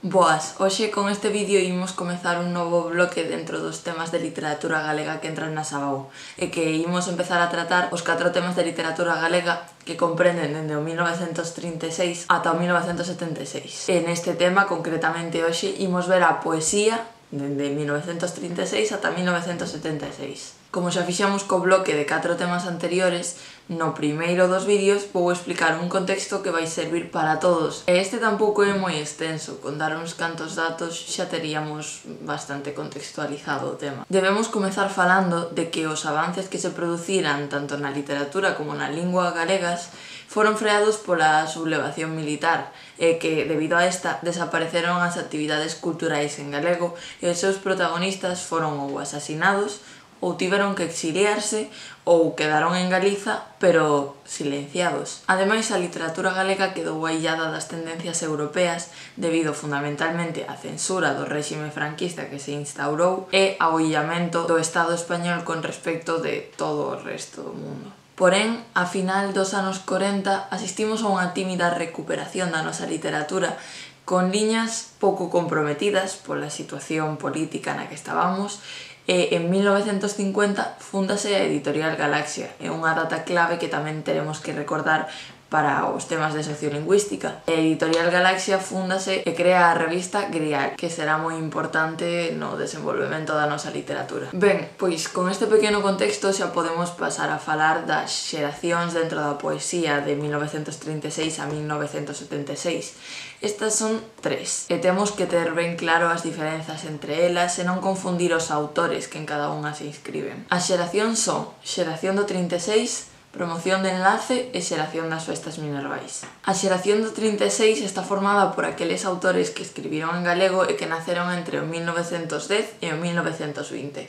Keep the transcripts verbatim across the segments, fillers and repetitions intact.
Boas, hoxe con este vídeo imos comezar un novo bloque dentro dos temas de literatura galega que entran na Sabau e que imos empezar a tratar os catro temas de literatura galega que comprenden dende o mil novecentos trinta e seis ata o mil novecentos setenta e seis. E neste tema, concretamente hoxe, imos ver a poesía dende mil novecentos trinta e seis ata mil novecentos setenta e seis. Como xa fixamos co bloque de catro temas anteriores, no primeiro dos vídeos vou explicar un contexto que vai servir para todos. E este tampouco é moi extenso, con dar uns cantos datos xa teríamos bastante contextualizado o tema. Debemos comezar falando de que os avances que se produciran tanto na literatura como na lingua galegas foron freados pola sublevación militar e que, debido a esta, desapareceron as actividades culturais en galego e os seus protagonistas foron ou asasinados ou tiveron que exiliarse ou quedaron en Galiza, pero silenciados. Ademais, a literatura galega quedou aillada das tendencias europeas debido fundamentalmente á censura do réxime franquista que se instaurou e ao illamento do Estado español con respecto de todo o resto do mundo. Porén, a final dos anos corenta asistimos a unha tímida recuperación da nosa literatura con liñas pouco comprometidas pola situación política na que estábamos. E en mil novecentos cincuenta fúndase a Editorial Galaxia, é unha data clave que tamén teremos que recordar para os temas de sociolingüística. A Editorial Galaxia fúndase e crea a revista Grial, que será moi importante no desenvolvemento da nosa literatura. Ben, pois con este pequeno contexto xa podemos pasar a falar das xeracións dentro da poesía de mil novecentos trinta e seis a mil novecentos setenta e seis. Estas son tres, e temos que ter ben claro as diferenzas entre elas e non confundir os autores que en cada unha se inscriben. As xeracións son xeración do trinta e seis, promoción de enlace e xeración das festas minervais. A xeración do trinta e seis está formada por aqueles autores que escribiron en galego e que naceron entre o mil novecentos dez e o mil novecentos vinte.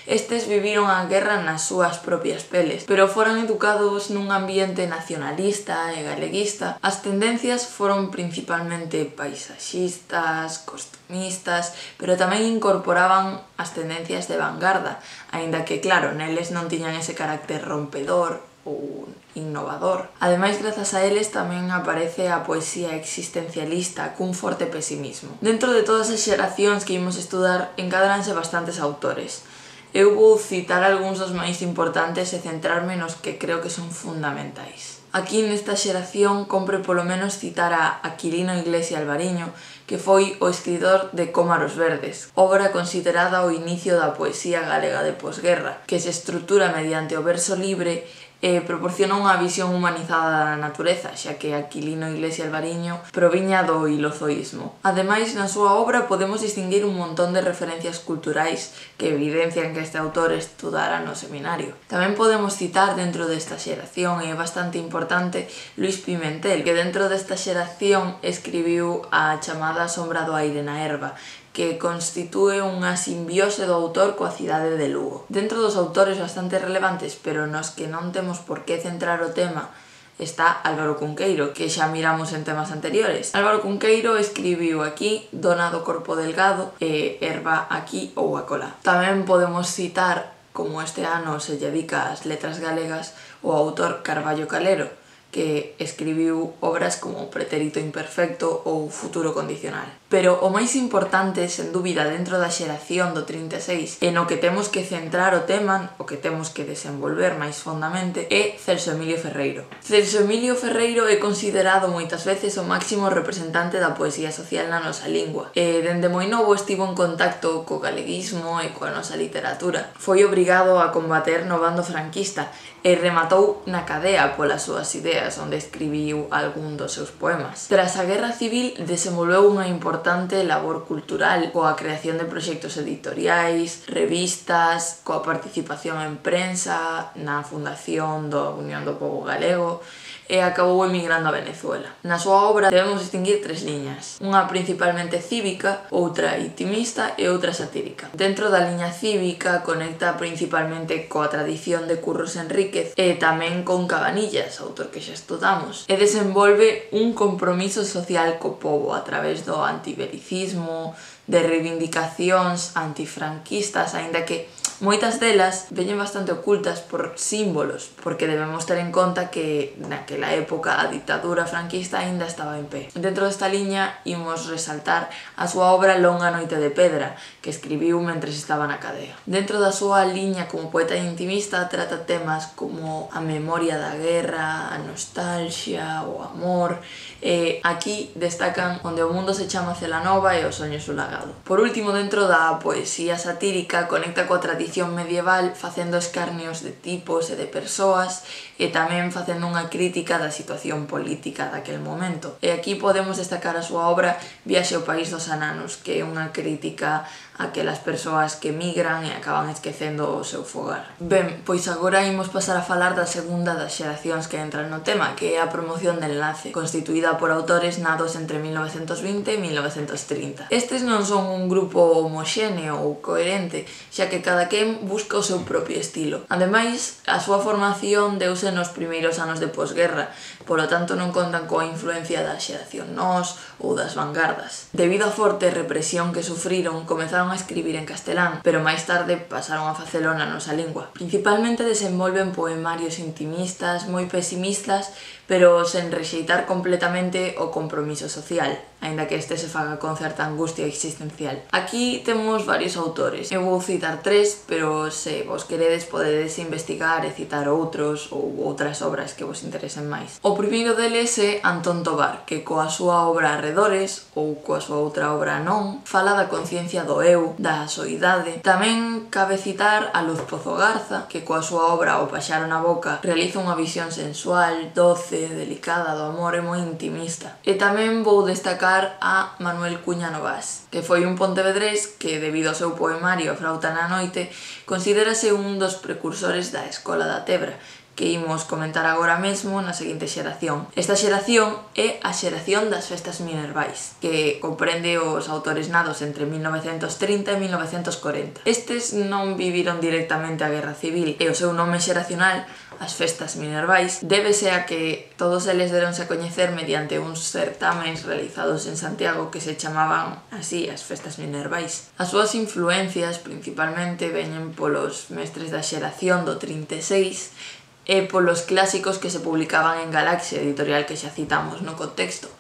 Estes viviron a guerra nas súas propias peles, pero foron educados nun ambiente nacionalista e galeguista. As tendencias foron principalmente paisaxistas, costumistas, pero tamén incorporaban as tendencias de vanguarda, aínda que, claro, neles non tiñan ese carácter rompedor ou innovador. Ademais, grazas a eles tamén aparece a poesía existencialista cun forte pesimismo. Dentro de todas as xeracións que imos estudar encadranse bastantes autores. Eu vou citar algúns dos máis importantes e centrarme nos que creo que son fundamentais. Aquí nesta xeración compre polo menos citar a Aquilino Iglesia Alvariño, que foi o escritor de Cómaros Verdes, obra considerada o inicio da poesía galega de posguerra, que se estrutura mediante o verso libre e proporciona unha visión humanizada da natureza, xa que Aquilino Iglesia Alvariño proviña do ilozoísmo. Ademais, na súa obra podemos distinguir un montón de referencias culturais que evidencian que este autor estudara no seminario. Tamén podemos citar dentro desta xeración, e é bastante importante, Luis Pimentel, que dentro desta xeración escribiu a chamada Sombra do aire na herba, que constitúe unha simbiose do autor coa cidade de Lugo. Dentro dos autores bastante relevantes, pero nos que non temos por que centrar o tema, está Álvaro Cunqueiro, que xa miramos en temas anteriores. Álvaro Cunqueiro escribiu aquí Dona do corpo delgado e Herba aquí ou acolá. Tamén podemos citar, como este ano se dedica ás letras galegas, o autor Carballo Calero, que escribiu obras como Pretérito imperfecto ou Futuro condicional. Pero o máis importante, sen dúbida, dentro da xeración do trinta e seis, e no que temos que centrar o tema, o que temos que desenvolver máis fondamente, é Celso Emilio Ferreiro. Celso Emilio Ferreiro é considerado moitas veces o máximo representante da poesía social na nosa lingua, e dende moi novo estivo en contacto co galeguismo e coa nosa literatura. Foi obrigado a combater no bando franquista e rematou na cadea polas súas ideas, onde escribiu algún dos seus poemas. Tras a Guerra Civil desenvolveu unha importante labor cultural coa creación de proxectos editoriais, revistas, coa participación en prensa, na fundación da Unión do Pobo Galego, e acabou emigrando a Venezuela. Na súa obra debemos distinguir tres liñas, unha principalmente cívica, outra intimista e outra satírica. Dentro da liña cívica conecta principalmente coa tradición de Curros Enríquez e tamén con Cabanillas, autor que xa estudamos, e desenvolve un compromiso social co pobo a través do antibelicismo, de reivindicacións antifranquistas, aínda que Moitas delas veñen bastante ocultas por símbolos, porque debemos ter en conta que naquela época a ditadura franquista aínda estaba en pé. Dentro desta liña imos resaltar a súa obra Longa noite de pedra, que escribiu mentres estaba na cadea. Dentro da súa liña como poeta intimista trata temas como a memoria da guerra, a nostalgia, o amor. E aquí destacan Onde o mundo se chama Celanova e O soño sulagado. Por último, dentro da poesía satírica conecta coa tradición medieval facendo escarnios de tipos e de persoas e tamén facendo unha crítica da situación política daquel momento. E aquí podemos destacar a súa obra Viaxe ao país dos ananos, que é unha crítica a aquelas persoas que migran e acaban esquecendo o seu fogar. Ben, pois agora imos pasar a falar da segunda das xeracións que entran no tema, que é a promoción de enlace, constituída por autores nados entre mil novecentos vinte e mil novecentos trinta. Estes non son un grupo homoxéneo ou coherente, xa que cada quen busca o seu propio estilo. Ademais, a súa formación deuse nos primeiros anos de posguerra, polo tanto non contan coa influencia da xeración Nós ou das vanguardas. Debido á forte represión que sufriron, comenzaron a escribir en castelán, pero máis tarde pasaron a facelo na nosa lingua. Principalmente desenvolven poemarios intimistas, moi pesimistas, pero sen rexeitar completamente o compromiso social, aínda que este se faga con certa angustia existencial. Aquí temos varios autores. Eu vou citar tres, pero se vos queredes podedes investigar e citar outros ou outras obras que vos interesen máis. O primeiro deles é Antón Tovar, que coa súa obra Arredores, ou coa súa outra obra Non, fala da conciencia do eu, da soidade. Tamén cabe citar a Luz Pozo Garza, que coa súa obra O paxaro na boca realiza unha visión sensual, doce, delicada do amor e moi intimista. E tamén vou destacar a Manuel Cuña Novas, que foi un pontevedrés que, debido ao seu poemario A frauta na noite, considérase un dos precursores da Escola da Tebra, que imos comentar agora mesmo na seguinte xeración. Esta xeración é a xeración das festas minervais, que comprende os autores nados entre mil novecentos trinta e mil novecentos corenta. Estes non viviron directamente a Guerra Civil e o seu nome xeracional, as festas minervais, débese a que todos eles deronse a coñecer mediante uns certámenes realizados en Santiago que se chamaban así as festas minervais. As súas influencias principalmente veñen polos mestres da xeración do trinta e seis e polos clásicos que se publicaban en Galaxia, editorial que xa citamos no contexto.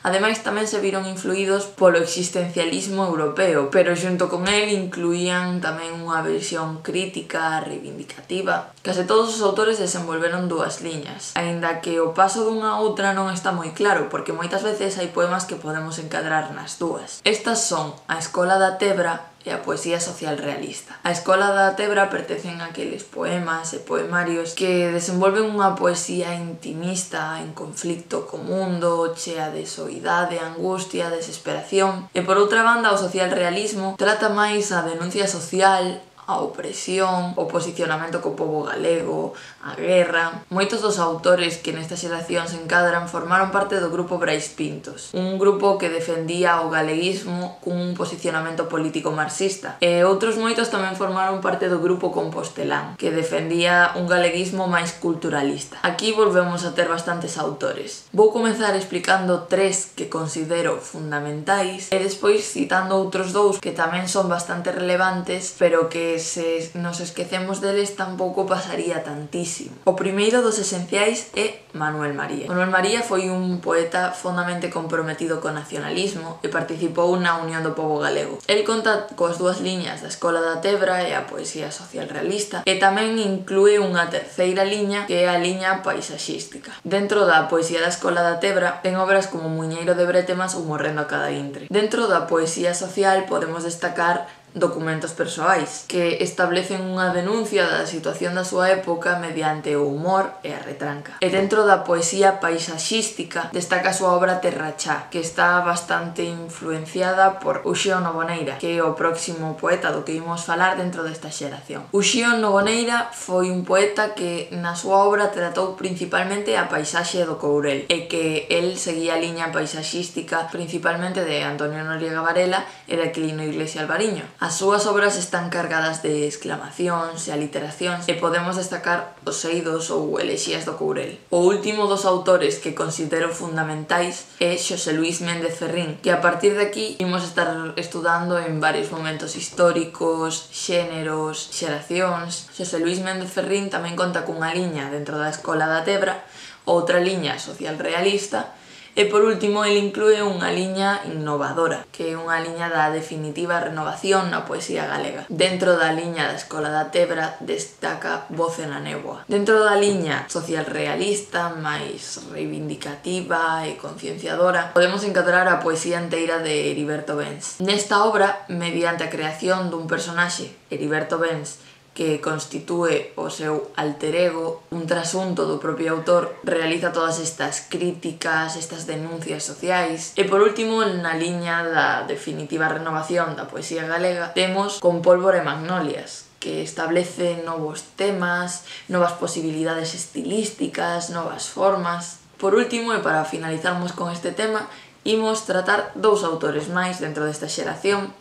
Ademais, tamén se viron influídos polo existencialismo europeo, pero xunto con el incluían tamén unha versión crítica, reivindicativa. Case todos os autores desenvolveron dúas liñas, aínda que o paso dunha a outra non está moi claro, porque moitas veces hai poemas que podemos encadrar nas dúas. Estas son a Escola da Tebra e a poesía social realista. A Escola da Tebra pertencen a aqueles poemas e poemarios que desenvolven unha poesía intimista en conflicto co mundo, chea de soidade, angustia, desesperación. E por outra banda, o social realismo trata máis a denuncia social, a opresión, o posicionamento co pobo galego, a guerra. Moitos dos autores que nesta xeración se encadran formaron parte do grupo Brais Pintos, un grupo que defendía o galeguismo cun posicionamento político marxista. E outros moitos tamén formaron parte do grupo Compostelán, que defendía un galeguismo máis culturalista. Aquí volvemos a ter bastantes autores. Vou comezar explicando tres que considero fundamentais e despois citando outros dous que tamén son bastante relevantes, pero que se nos esquecemos deles tampouco pasaría tantísimo. O primeiro dos esenciais é Manuel María. Manuel María foi un poeta fondamente comprometido co nacionalismo e participou na Unión do Pobo Galego. El conta coas dúas liñas da Escola da Tebra e a poesía social realista, e tamén inclúe unha terceira liña que é a liña paisaxística. Dentro da poesía da Escola da Tebra ten obras como Muiñeiro de Bretemas ou Morrendo a cada intre. Dentro da poesía social podemos destacar Documentos persoais, que establecen unha denuncia da situación da súa época mediante o humor e a retranca. E dentro da poesía paisaxística destaca a súa obra Terrachá, que está bastante influenciada por Uxío Noboneira, que é o próximo poeta do que imos falar dentro desta xeración. Uxío Noboneira foi un poeta que na súa obra tratou principalmente a paisaxe do Courel, e que el seguía a liña paisaxística principalmente de Antonio Noriega Varela e de Aquilino Iglesia Alvariño. As súas obras están cargadas de exclamacións e aliteracións e podemos destacar os eidos ou elexías do Courel. O último dos autores que considero fundamentais é Xosé Luís Méndez Ferrín, que a partir de aquí imos estar estudando en varios momentos históricos, xéneros, xeracións. Xosé Luís Méndez Ferrín tamén conta cunha liña dentro da Escola da Tebra, outra liña social realista, e por último el inclúe unha liña innovadora, que é unha liña da definitiva renovación na poesía galega. Dentro da liña da Escola da Tebra destaca Voce na Néboa. Dentro da liña social realista, máis reivindicativa e concienciadora, podemos encadrar a poesía enteira de Heriberto Bens. Nesta obra, mediante a creación dun personaxe, Heriberto Bens, que constitúe o seu alter ego, un trasunto do propio autor, realiza todas estas críticas, estas denuncias sociais. E por último, na liña da definitiva renovación da poesía galega, temos Con pólvora e magnolias, que establece novos temas, novas posibilidades estilísticas, novas formas. Por último, e para finalizarmos con este tema, imos tratar dous autores máis dentro desta xeración,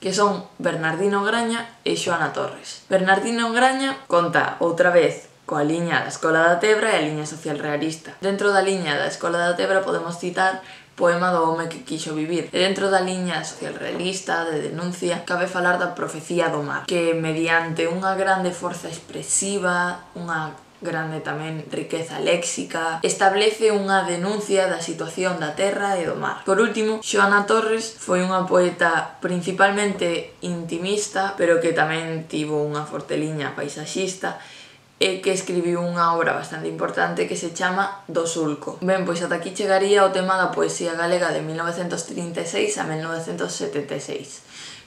que son Bernardino Graña e Xoana Torres. Bernardino Graña conta outra vez coa liña da Escola da Tebra e a liña social realista. Dentro da liña da Escola da Tebra podemos citar Poema do home que quixo vivir. E dentro da liña social realista, de denuncia, cabe falar da Profecía do mar, que mediante unha grande forza expresiva, unha grande tamén riqueza léxica, establece unha denuncia da situación da terra e do mar. Por último, Xoana Torres foi unha poeta principalmente intimista, pero que tamén tivo unha forte liña paisaxista e que escribiu unha obra bastante importante que se chama Do Sulco. Ben, pois ata aquí chegaría o tema da poesía galega de mil novecentos trinta e seis a mil novecentos setenta e seis.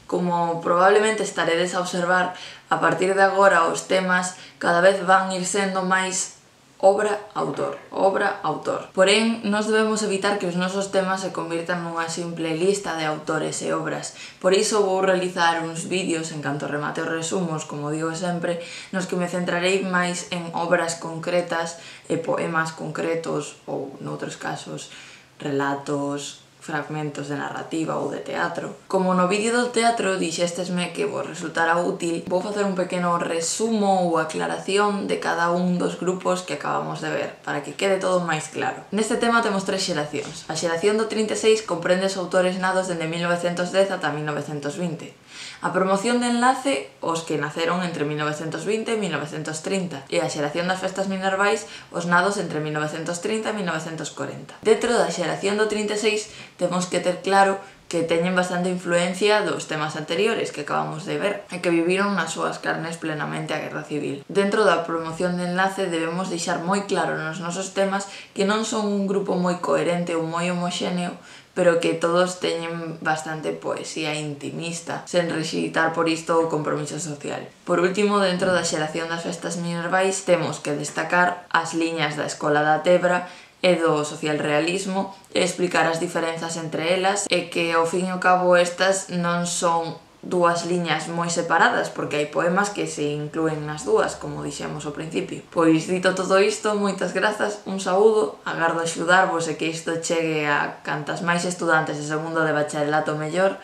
Como probablemente estaredes a observar, a partir de agora os temas cada vez van ir sendo máis obra-autor, obra-autor. Porén, nós debemos evitar que os nosos temas se convirtan nunha simple lista de autores e obras. Por iso vou realizar uns vídeos en canto remate os resumos, como digo sempre, nos que me centrarei máis en obras concretas e poemas concretos ou, noutros casos, relatos, fragmentos de narrativa ou de teatro. Como no vídeo do teatro dixéstesme que vos resultara útil, vou facer un pequeno resumo ou aclaración de cada un dos grupos que acabamos de ver, para que quede todo máis claro. Neste tema temos tres xeracións. A xeración do trinta e seis comprende os autores nados dende mil novecentos dez ata mil novecentos vinte. A promoción de enlace, os que naceron entre mil novecentos vinte e mil novecentos trinta, e a xeración das festas minervais, os nados entre mil novecentos trinta e mil novecentos corenta. Dentro da xeración do trinta e seis temos que ter claro que teñen bastante influencia dos temas anteriores que acabamos de ver e que viviron nas súas carnes plenamente a Guerra Civil. Dentro da promoción de enlace debemos deixar moi claro nos nosos temas que non son un grupo moi coherente ou moi homoxéneo, pero que todos teñen bastante poesía intimista, sen rexitar por isto o compromiso social. Por último, dentro da xeración das festas minervais, temos que destacar as liñas da Escola da Tebra e do socialrealismo e explicar as diferenzas entre elas e que, ao fin e ao cabo, estas non son dúas liñas moi separadas, porque hai poemas que se inclúen nas dúas, como dixemos ao principio. Pois, dito todo isto, moitas grazas, un saúdo, agardo axudarvos e que isto chegue a cantas máis estudantes de segundo de bacharelato mellor,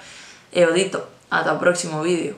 e o dito, ata o próximo vídeo.